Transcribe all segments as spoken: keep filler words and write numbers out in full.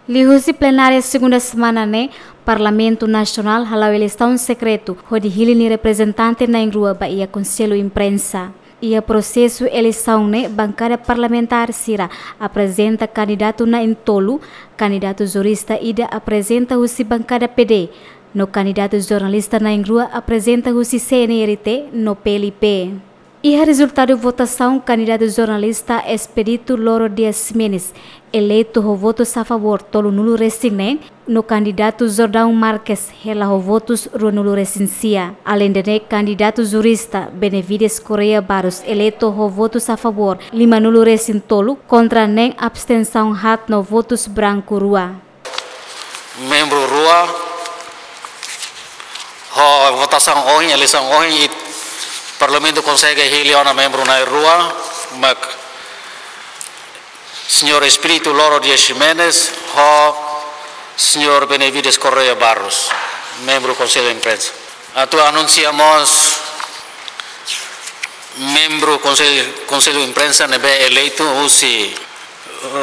Liuhusi plenária segunda semana ne'e, Parlamentu Nasionál hala'o eleisaun sekretu hodi hili nia reprezentante na'in-rua ba iha Konsellu Imprensa. Iha prosesu eleisaun ne'e, bankada parlamentár sira aprezenta kandidatu na'in-tolu, kandidatu jurista ida aprezenta husi bankada P D, no kandidatu jornalista na'in-rua aprezenta husi C N R T no P L P. Iha rezultadu votasaun, kandidatu jornalista Expedito Loro Dias Ximenes eleitu ho votus a favór tolunulu-resin-neen, no kandidatu Jordão Marques hela ho votus ruanulu-resin-sia. Aleinde ne'e, kandidatu jurista Benevides Correia Barros eleitu ho votus a favór limanulu-resin-tolu, kontra neen, abstensaun haat no votus branku rua. Membru rua. Ho votasaun ohin, eleisaun ohin, i Parlamentu konsege hili ona membru na'in-rua, mak Señór Expedito Loro Dias Ximenes ho Señór Benevides Correia Barros, membru Konsellu Imprensa. Atu anunsia mós membru Konsellu, Konsellu Imprensa ne'ebé eleitu husi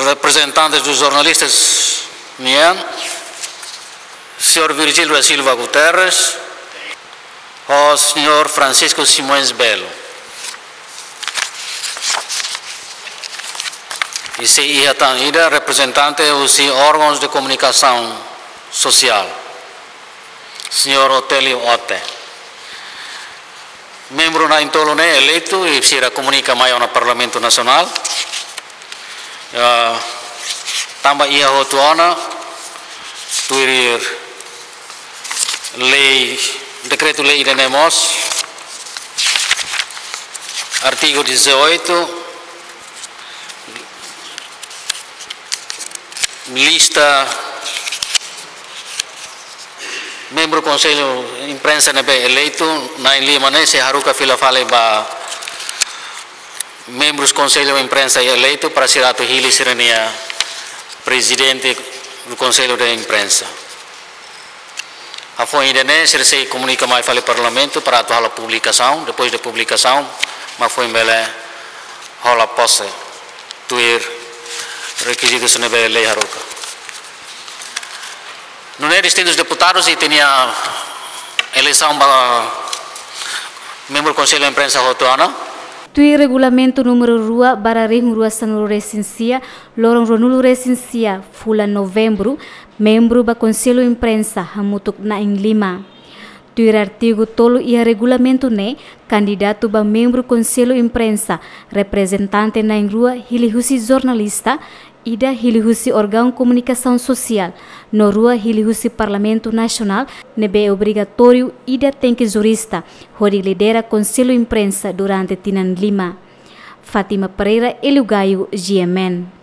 reprezentantes dos jornalistas nian, Señór Virgílio da Silva Guterres ho Señór Francisco Simões Belo. I sei iha tan ida reprezentante husi órgãos de comunicação social, Señór Otélio Ote. Membru na'in-tolu ne'e eleitu i sira komunika mai ona Parlamentu Nasionál. Ah, tanba iha hotu ona, tuir lei, dekretu-lei ida-ne'e mós, artigu dezoito, lista membru Konsellu Imprensa ne'ebé eleitu na'in-lima ne'e sei haruka fila fali ba membrus Konsellu Imprensa eleitu para sira atu hili sira-nia prezidente do Conselho de Imprensa. Hafoin ida-ne'e sira sei komunika mai fali Parlamentu para atu halo publikasaun, depois de publikasaun mak foin bele hola pose tuir rekizitus ne'ebé lei haruka. Nune'e distintus deputadus ita-nia eleisaun ba membru Konsellu Imprensa hotu ona. Tuir regulamentu númeru rua barra rihun rua sanulu-resin-sia, loron ruanulu-resin-sia fulan Novembru, membru ba Konsellu Imprensa hamutuk na'in-lima. Tuir artigu tolu iha regulamentu ne'e, kandidatu ba membru Konsellu Imprensa, reprezentante na'in-rua hili husi jornalista, ida hili husi órgaun komunikasaun sosiál, no rua hili husi Parlamentu Nasionál, ne'ebé obrigatóriu ida tenke jurista, hodi lidera Konsellu Imprensa durante tinan lima. Fátima Pereira, Hélio Gaio, G M N.